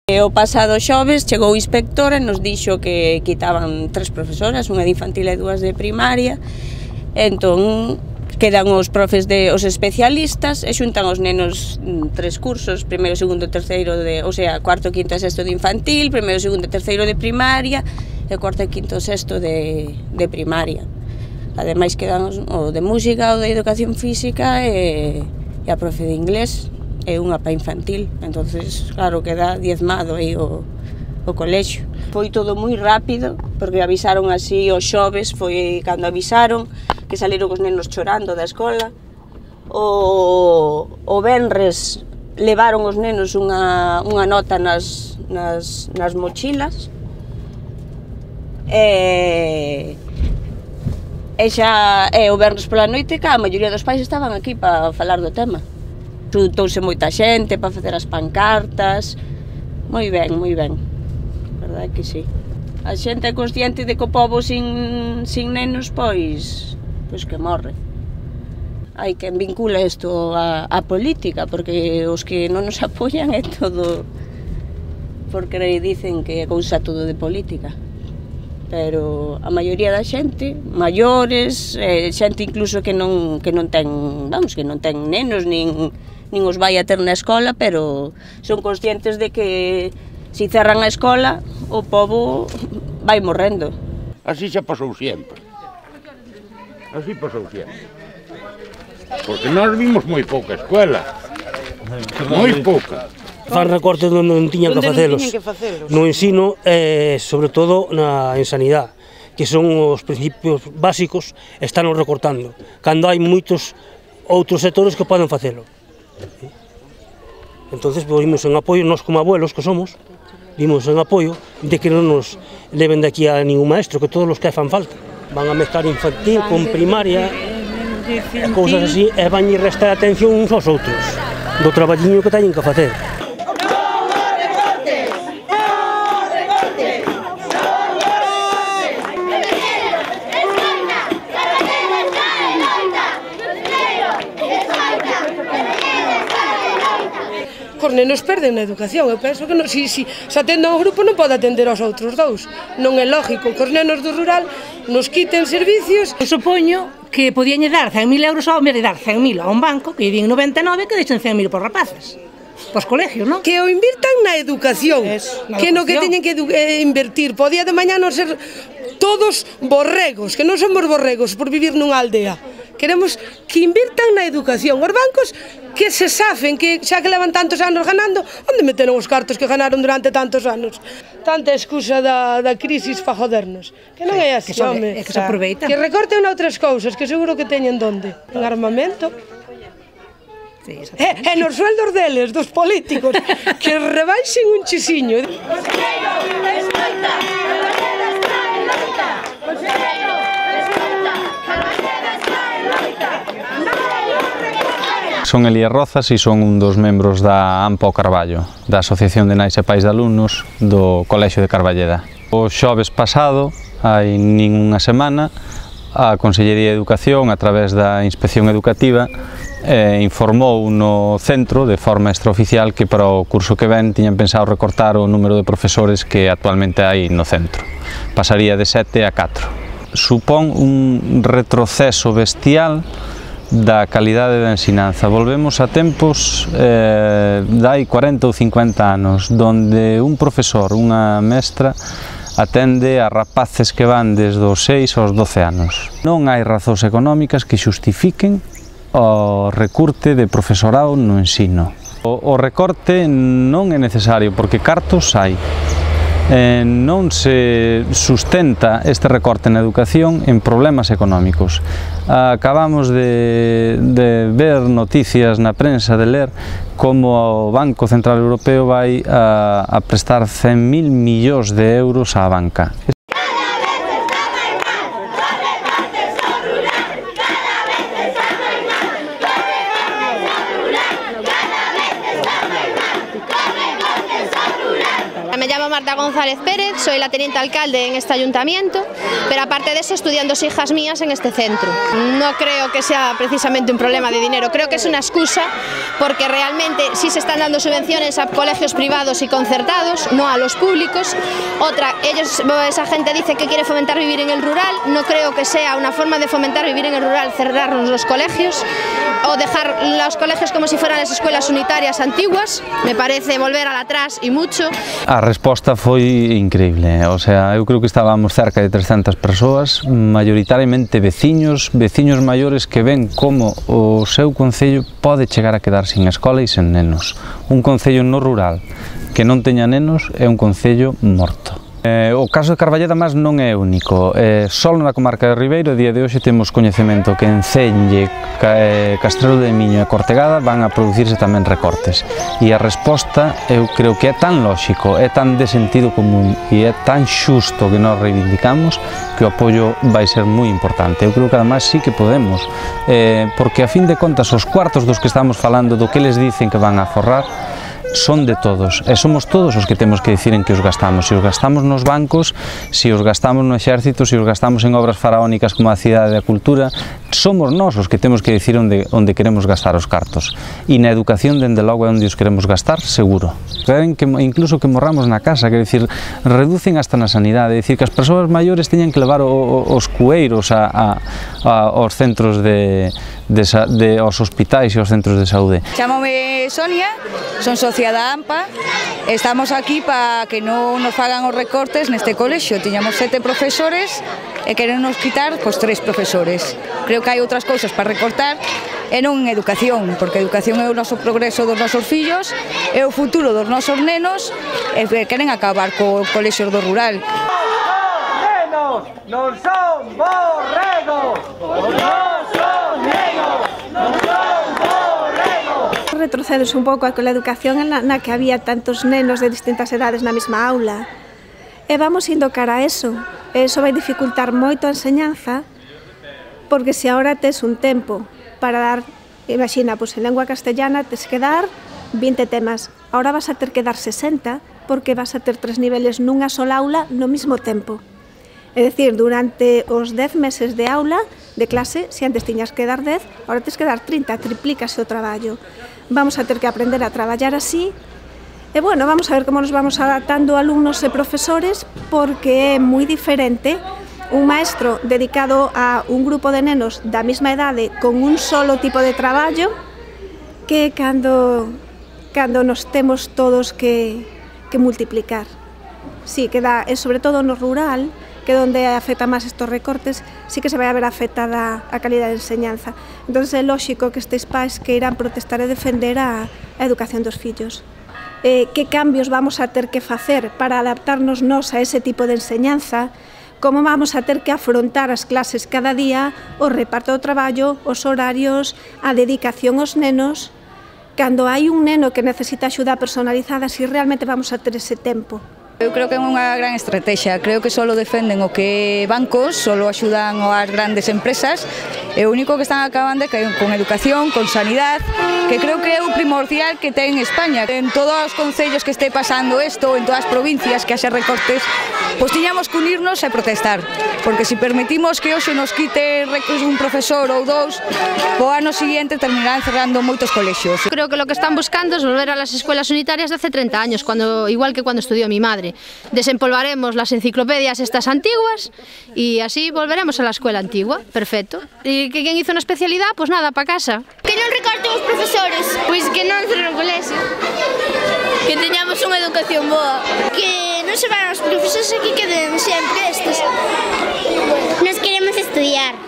O pasado xoves chegou o inspector e nos dixo que quitaban 3 profesoras, unha de infantil e 2 de primaria. Entón, quedan os profes os especialistas e xuntan os nenos 3 cursos, primeiro, segundo, terceiro o sea, cuarto, quinto e sexto de infantil, primeiro, segundo e terceiro de primaria e cuarto, quinto e sexto de primaria. Ademais quedan o de música, o de educación física e a profe de inglés e unha pa infantil. Entonces, claro, queda diezmado aí o colexio. Foi todo moi rápido, porque avisaron así os xoves, foi cando avisaron que saliron os nenos chorando da escola. O venres levaron os nenos unha nota nas mochilas e o venres pola noite que a maioría dos pais estaban aquí para falar do tema. Xuntouse moita xente para facer as pancartas. Moi ben, moi ben. Verdade que sí. A xente é consciente de que o pobo sin nenos, pois que morre. Hai quen vincula isto á política, porque os que non nos apoian é todo porque dicen que é cousa todo de política. Pero a maioría da xente, maiores, xente incluso que non ten nenos, nin os vai a ter na escola, pero son conscientes de que se cerran a escola, o pobo vai morrendo. Así xa pasou sempre. Así pasou sempre. Porque nós vimos moi pouca escuela. Moi pouca. Fan recortes onde non tiñan que facelos. No ensino e, sobre todo, en sanidade, que son os principios básicos, están recortando, cando hai moitos outros sectores que poden facelo. Entonces, vimos en apoio, nós como abuelos que somos, vimos en apoio de que non nos leven de aquí a ningún maestro, que todos os que fan falta. Van a mezclar infantil con primaria, e cousas así, e van a restar atención uns aos outros, do traballiño que teñen que facer. Os nenos perden na educación, eu penso que se atende a un grupo non pode atender aos outros dous. Non é lógico que os nenos do rural nos quiten servicios. Eu supoño que podían dar 100.000 euros ao vez de dar 100.000 a un banco, que din 99, que deixen 100.000 por rapaces. Pos colegios, non? Que o invirtan na educación, que no que teñen que invertir. Podía de mañá non ser todos borregos, que non somos borregos por vivir nunha aldea. Queremos que invirtan na educación. Os bancos que se safen, que xa que levan tantos anos ganando, onde meteron os cartos que ganaron durante tantos anos? Tanta excusa da crisis para jodernos. Que non é así, home. Que se aproveita. Que recorten outras cousas, que seguro que teñen donde. En armamento. E nos sueldos deles, dos políticos, que rebaixen un chisiño. Conselleiro, escoita, Carballeira está en loita. Conselleiro, escoita, Carballeira está en loita. Son Elías Rozas e son un dos membros da AMPA O Carballo, da Asociación de Nais e Pais de Alumnos do Colexio de Carballeda. O xoves pasado, hai nin unha semana, a Consellería de Educación, a través da Inspección Educativa, informou no centro, de forma extraoficial, que para o curso que ven tiñan pensado recortar o número de profesores que actualmente hai no centro. Pasaría de 7 a 4. Supón un retroceso bestial da calidade da ensinanza. Volvemos a tempos dai 40 ou 50 anos, donde un profesor, unha mestra, atende a rapaces que van desde os 6 aos 12 anos. Non hai razóns económicas que xustifiquen o recorte de profesorado no ensino. O recorte non é necesario, porque cartos hai. Non se sustenta este recorte na educación en problemas económicos. Acabamos de ver noticias na prensa, de ler como o Banco Central Europeo vai a prestar 100.000 millóns de euros á banca. Me llamo Marta González Pérez, soy la teniente alcalde en este ayuntamiento, pero aparte de eso estudian 2 hijas mías en este centro. No creo que sea precisamente un problema de dinero, creo que es una excusa porque realmente sí se están dando subvenciones a colegios privados y concertados, no a los públicos. Otra, esa gente dice que quiere fomentar vivir en el rural, no creo que sea una forma de fomentar vivir en el rural cerrarnos los colegios o dejar los colegios como si fueran las escuelas unitarias antiguas, me parece volver al atrás y mucho. A resposta foi increíble, o sea, eu creo que estábamos cerca de 300 persoas, maioritariamente veciños maiores que ven como o seu concello pode chegar a quedar sin escola e sen nenos. Un concello no rural que non teña nenos é un concello morto. O caso de Carballeda máis non é único, só na comarca de Ribeiro a día de hoxe temos coñecemento que en Celle, Castrelo de Miño e Cortegada van a producirse tamén recortes e a resposta eu creo que é tan lóxico, é tan de sentido común e é tan xusto que nós reivindicamos que o apoio vai ser moi importante. Eu creo que además sí que podemos, porque a fin de contas os cuartos dos que estamos falando, do que les dicen que van a forrar, son de todos, e somos todos os que temos que dicir en que os gastamos, se os gastamos nos bancos, se os gastamos no exército, se os gastamos en obras faraónicas como a Cidade da Cultura, somos nós os que temos que dicir onde queremos gastar os cartos, e na educación, dende logo, é onde os queremos gastar, seguro. Queren que incluso que morramos na casa, quer dicir, reducen hasta na sanidade, é dicir, que as persoas maiores teñan que levar os cueiros aos centros aos hospitais e aos centros de saúde. Chámome Sonia, son socia da AMPA, estamos aquí para que non nos fagan os recortes neste colexio. Tiñamos 7 profesores e queren nos quitar 3 profesores. Creo que hai outras cousas para recortar e non en educación, porque a educación é o noso progreso dos nosos fillos, é o futuro dos nosos nenos e queren acabar co colexio do rural. Nenos non son borregos, non son nenos, non son borregos. Retrocedes un pouco con a educación na que había tantos nenos de distintas edades na mesma aula. E vamos indo cara a eso. Eso vai dificultar moito a enseñanza, porque se agora tes un tempo para dar, imagina, en lengua castellana tes que dar 20 temas, agora vas a ter que dar 60, porque vas a ter 3 niveles nunha sola aula no mesmo tempo. É dicir, durante os 10 meses de aula, de clase, se antes tiñas que dar 10, agora tens que dar 30, triplícase o traballo. Vamos a ter que aprender a traballar así, e bueno, vamos a ver como nos vamos adaptando alumnos e profesores, porque é moi diferente un maestro dedicado a un grupo de nenos da mesma idade con un solo tipo de traballo que cando nos temos todos que multiplicar. Sí, que dá, e sobre todo no rural, que é onde afecta máis estos recortes, sí que se vai a ver afectada a calidad de enseñanza. Entón é lóxico que estes pais que irán protestar e defender a educación dos fillos. Que cambios vamos a ter que facer para adaptarnos nós a ese tipo de enseñanza, como vamos a ter que afrontar as clases cada día, o reparto do traballo, os horarios, a dedicación aos nenos, cando hai un neno que necesita axuda personalizada, si realmente vamos a ter ese tempo. Eu creo que é unha gran estrategia, creo que só defenden o que bancos, só axudan as grandes empresas, e o único que están acabando é con educación, con sanidade, que creo que é o primordial que ten España. En todos os concellos que este pasando isto, en todas as provincias que haxe recortes, pois tiñamos que unirnos e protestar, porque se permitimos que hoxe nos quite un profesor ou 2, o ano seguinte terminarán cerrando moitos colexios. Creo que lo que están buscando es volver a las escuelas unitarias de hace 30 años, igual que cuando estudió mi madre. Desempolvaremos las enciclopedias estas antiguas y así volveremos a la escuela antigua. Perfecto. ¿Y quién hizo una especialidad? Pues nada, para casa. Que non recorten os profesores, pois que non cerren o colexio. Que teñamos unha educación boa. Que non se van os profesores e que queden sempre estes. Nos queremos estudiar.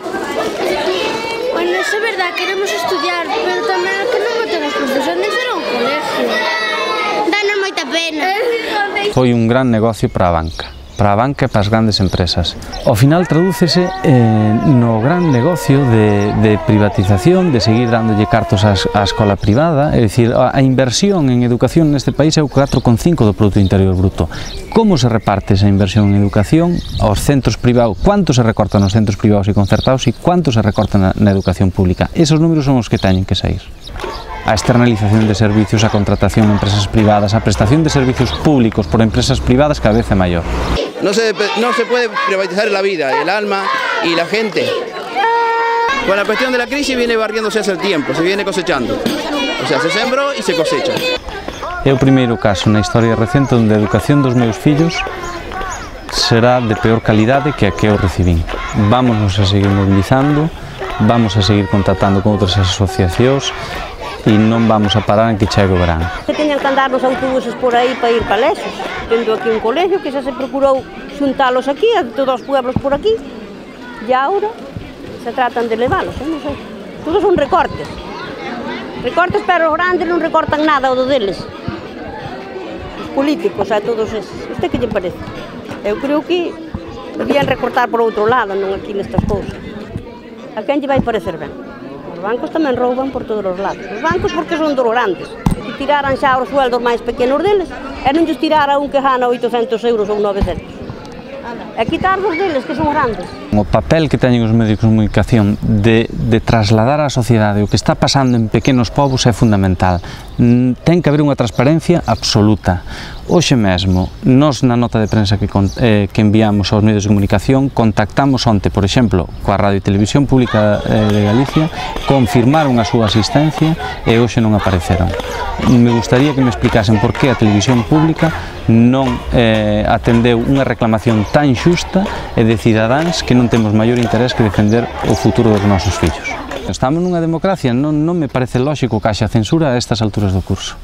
Bueno, é verdad, queremos estudiar, pero tamén que non boten os profesores, non cerren o colexio. Danos moita pena. Foi un gran negocio para a banca e para as grandes empresas. Ao final tradúcese no gran negocio de privatización, de seguir dándolle cartos á escola privada, é dicir, a inversión en educación neste país é o 4,5 do Produto Interior Bruto. Como se reparte esa inversión en educación aos centros privados? Cuánto se recorta nos centros privados e concertados e cuánto se recorta na educación pública? Esos números son os que teñen que sair. a externalización de servicios, a contratación en empresas privadas, a prestación de servicios públicos por empresas privadas cada vez é maior. No se puede privatizar la vida, el alma y la gente. Con la cuestión de la crisis viene barriéndose hace el tiempo, se viene cosechando. O sea, se sembró y se cosecha. É o primeiro caso na historia recente onde a educación dos meus fillos será de peor calidade que a que eu recibín. Vamos a seguir mobilizando, vamos a seguir contactando con outras asociacións e non vamos a parar en que chegue o verán. Que teñan que andar nos autobuses por aí para ir para Lexos, tendo aquí un colegio que xa se procurou xuntalos aquí, a todos os pueblos por aquí, e agora se tratan de leválos, non sei. Todos son recortes. Recortes, pero os grandes non recortan nada o do deles. Os políticos, todos eses. Usted que lle parece? Eu creo que debían recortar por outro lado, non aquí nestas cousas. A quen lle vai parecer ben? Os bancos tamén rouban por todos os lados. Os bancos porque son dos grandes. E tiraran xa os sueldos máis pequenos deles e non lles tirara un que gana 800 euros ou 900. E quitar dos deles que son grandes. O papel que teñen os medios de comunicación de trasladar á sociedade o que está pasando en pequenos povos é fundamental. Ten que haber unha transparencia absoluta. Hoxe mesmo, nós na nota de prensa que enviamos aos medios de comunicación contactamos onte, por exemplo, coa Radio e Televisión Pública de Galicia, confirmaron a súa asistencia e hoxe non apareceron. Me gustaría que me explicasen por que a Televisión Pública non atendeu unha reclamación tan xusta e de cidadáns que non temos maior interés que defender o futuro dos nosos fillos. Estamos nunha democracia, non me parece lóxico que haxa censura a estas alturas do curso.